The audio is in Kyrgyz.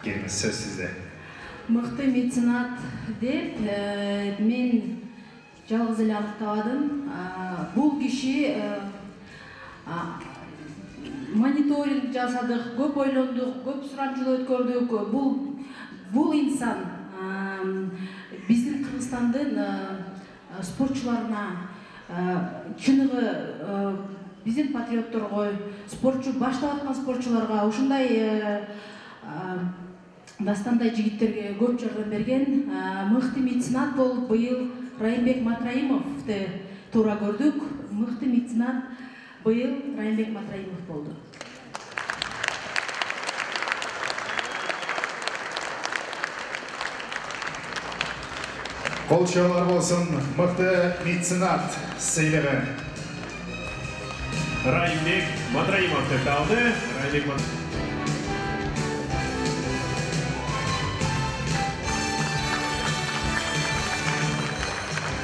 Келиңиз, сөз сизде. Мыкты меценат деп мен жалгыз эле аныктабадым. Бул киши мониторинг жасадык, көп ойлондук, көп сурамжылоо өткөрдүк. Бул инсан биздин Кыргызстандын спортчуларына, чыныгы биздин патриотторго, спортчу баштап аткан спортчуларга, ушундай дастандай жигиттерге көп жардам берген. Мыкты меценат болуп быйыл Райымбек Матраимовду туура көрдүк. Мыкты меценат быйыл Райымбек Матраимов болду. Кол чоолор болсун, мыкты меценат сыйлыгы. Райымбек Матраимов деп алды. Райымбек